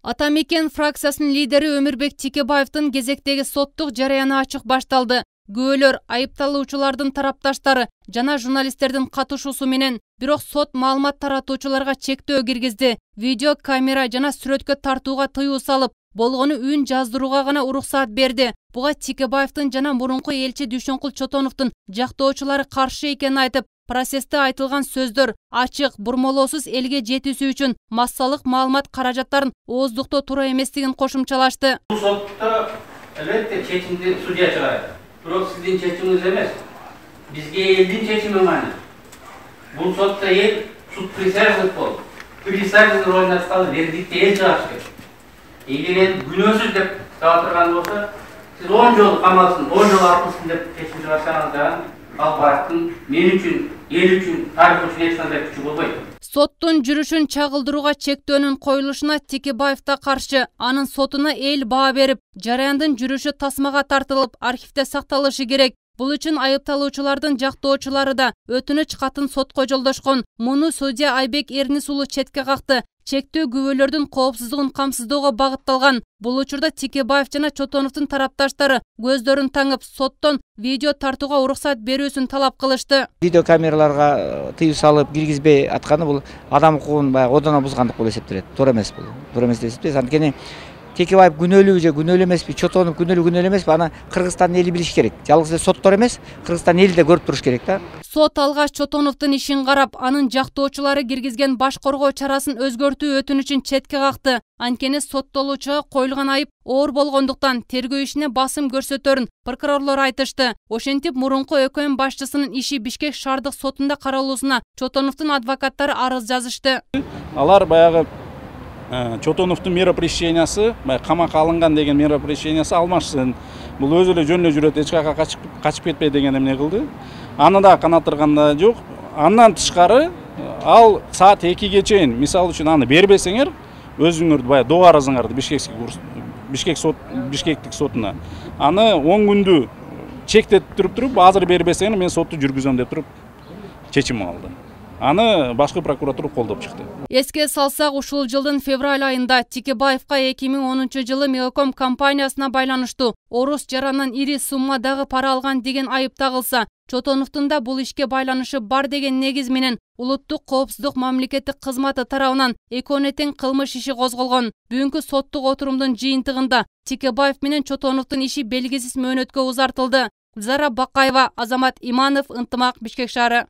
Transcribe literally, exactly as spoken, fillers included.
Атамекен фракциясынын лидери Өмүрбек Текебаевдин кезектеги соттук жарыяны ачык башталды. Күбөлөр, айыпталуучулардын тарапташтары жана журналисттердин катышуусу менен, бирок сот маалымат таратуучуларга чектөө киргизди. Видео камера жана сүрөткө тартууга тыюу салып, болгону үн жаздырууга гана уруксаат берди. Буга Текебаевдин жана мурунку элчи Дүйшөнкул Чотоновдун жактоочулары каршы экенин айтып, процессте айтылган сөздөр ачык, бурмолоосуз элге жетүүсү үчүн массалык маалымат каражаттарын ооздуктоо туура эместигин кошумчалашты. Бул сотто албетте чечимди судья чыгарат. Бирок сиздин чечимиңиз эмес. Бизге элдин чечими маани. Бул сотто эл суд присяжных болуп, присяжный ролуна калып, вердикти эл чыгарыш керек. Эгер күнөөсүз деп таап турган болсо, сиз он жол камалсын, он жол атылсын деп чечим чыгарсаңыз да, ал барактын мен үчүн, эл үчүн, тарих үчүн эч кандай күчү болбойт. Соттун жүрүшүн чагылдырууга чектөөнүн коюлушуна Текебаев да каршы. Анын сотуна эл баа берип, жараяндын жүрүшү тасмага тартылып, архивде сакталышы керек. Бул үчүн айыпталуучулардын жактоочулары да өтүнүч катын сотко жолдошкон. Муну судья Айбек Эрнис уулу четке какты. Чектөө күбөлөрдүн коопсуздугун камсыздоого багытталган. Бул учурда Текебаев жана Чотоновдун тарапташтары көздөрүн таңып, соттон видео тартууга уруксаат берүүсүн талап кылышты. Видео камераларга тыюу салып киргизбей атканы бул адам укугун баягы одоно бузгандык болуп эсептелет. Туура эмес бул. Туура эмес деп эсептейбиз. Анткени Текебаев күнөөлүүбү же күнөөлүү эмеспи, Чотонов күнөөлүү күнөөлүү эмеспи, аны Кыргызстандын эли билиш керек. Жалгыз эле соттор эмес, Кыргызстан эли да көрүп туруш керек да. Сот алгач Чотоновдун ишин карап, анын жактоочулары киргизген баш коргоо чарасын өзгөртүү өтүнүчүн четке какты. Анткени соттолуучуга коюлган айып оор болгондуктан тергөө ишине басым көрсөтөрүн прокурорлор айтышты. Ошентип, мурунку ӨКМ башчысынын иши Бишкек шаардык сотунда каралуусуна Чотоновдун адвокаттары арыз жазышты. Алар баягы Чотоновдун меропрещениясы, камакка алынган деген меропрещениясы алмашсын. Бул өзү эле жөнүнө жүрөт, эч кайка качып кетпей деген эмне кылды. Аны да канаттырганда жок. Андан тышкары ал саат экиге чейин, мисалы үчүн аны бербесеңер, өзүңөрдү баягы доо арызыңарды Бишкек Бишкек сот Бишкектик сотуна. Аны он күндү чектетип туруп, азыр бербесеңер мен сотту жүргүзөм деп туруп чечим алды. Аны башкы прокуратура колдоп чыкты. Эске салсак, ушул жылдын февраль айында Текебаевка эки миң онунчу жылы Меоком компаниясына байланыштуу орус жарандан ири суммадагы пара алган деген айып тагылса, Чотоновдун да бул ишке байланышы бар деген негиз менен улуттук коопсуздук мамлекеттик кызматы тарабынан экөөнө тең кылмыш иши козголгон. Бүгүнкү соттук отурумдун жыйынтыгында Текебаев менен Чотоновдун иши белгисиз мөөнөткө узартылды. Зара Бакаева, Азамат Иманов, Ынтымак, Бишкек шаары.